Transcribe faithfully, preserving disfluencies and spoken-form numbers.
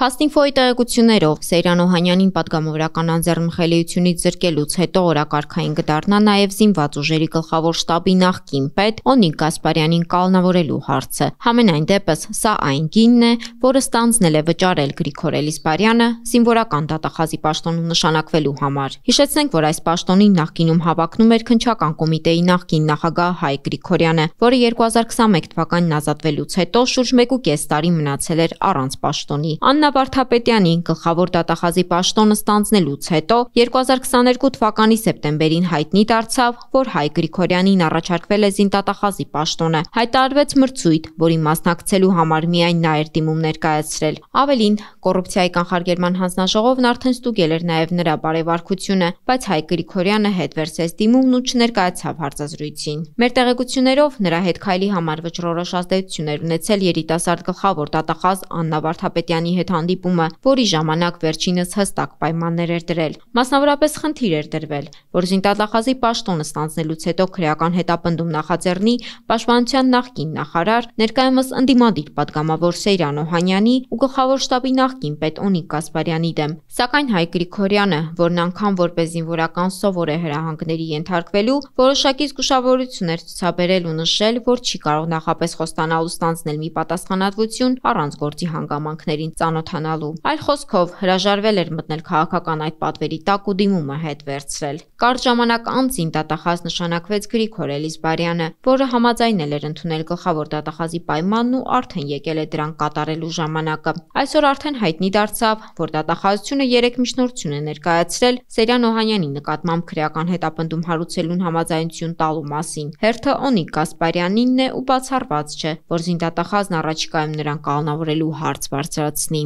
Փաստինֆոյի տեղեկություններով Սեյրան Օհանյանին պատգամավորական անձեռնմխելիությունից զրկելուց հետո օրակարգային կդառնա նաև զինված ուժերի գլխավոր շտաբի նախկին պետ Օնիկ Գասպարյանին կալանավորելու հարցը։ Համենայն դեպս, սա այն գինն է, որը ստանձնել է վճարել Գրիգոր Էլիզբարյանը զինվորական դատախազի պաշտոնում նշանակվելու համար։ Հիշեցնենք, որ այս պաշտոնին նախկինում հավակնում էր Քննչական կոմիտեի նախկին նախագահ Հայկ Գրիգորյանը, որը երկու հազար քսանմեկ թվականին ազատվելուց հետո շուրջ մեկ ու կես տարի մնացել էր առանց պաշտոնի։ Աննա Վարդապետյանի գլխավոր դատախազի պաշտոնը ստանձնելուց հետո երկու հազար քսաներկու թվականի սեպտեմբերին հայտնի դարձավ, որ Հայկ Գրիգորյանին առաջարկվել է զինդատախազի պաշտոնը։ Հայտարարվեց մրցույթ, որի մասնակցելու համար միայն նա էր դիմում ներկայացրել։ Ավելին, կոռուպցիայի կանխարգելման հանձնաժողովն արդեն ստուգել էր նաև նրա բարեվարքությունը, բայց Հայկ Գրիգորյանը հետ վերցրեց դիմումն ու չներկայացավ հարցազրույցին։ Մեր տեղեկություններով նրա հետ քայլի համար վճռորոշ ազդեցություն էր ունեցել երիտասարդ գլխավոր դատախազ Աննա Վարդապետյանի հետ հանդիպումը, որի ժամանակ վերջինս հստակ պայմաններ էր դրել։ Մասնավորապես խնդիր էր դրվել, որ զինդատախազի պաշտոնը ստանձնելուց հետո քրեական հետապնդում նախաձեռնի պաշտպանության նախկին նախարար, ներկայումս ընդդիմադիր պատգամավոր Սեյրան Օհանյանի ու գլխավոր շտաբի նախկին պետ Օնիկ Գասպարյանի դեմ։ Սակայն Հայկ Գրիգորյանը, որն անգամ որպես զինվորական սովոր է հրահանգների ենթարկվելու, որոշակի զգուշավորություն էր ցուցաբերել ու նշել, որ չի կարող նախապես խոստանալ ու ստանձնել մի պատասխանատվություն առանց գործի հանգամանքներին ծանոթանալու։ Այլ խոսքով, հրաժարվել էր մտնել քաղաքական այդ պատվերի տակ ու դիմումը հետ վերցրել։ Կարճ ժամանակ անց զինդատախազ նշանակվեց Գրիգոր Էլիզբարյանը, որը համաձայնել էր ընդունել գլխավոր դատախազի պայմանն ու արդեն եկել է դրանք կատարելու ժամանակը։ Այսօր արդեն հայտնի դարձավ, որ դատախազությունը երեք միջնորդություն է ներկայացրել Սեյրան Օհանյանի նկատմամբ քրեական հետապնդում հարուցելուն համաձայնություն տալու մասին։ Հերթը Օնիկ Գասպարյանինն է ու բացառված չէ, որ զինդատախազն առաջիկայում նրան կալանավորելու հարց բարձրացնի։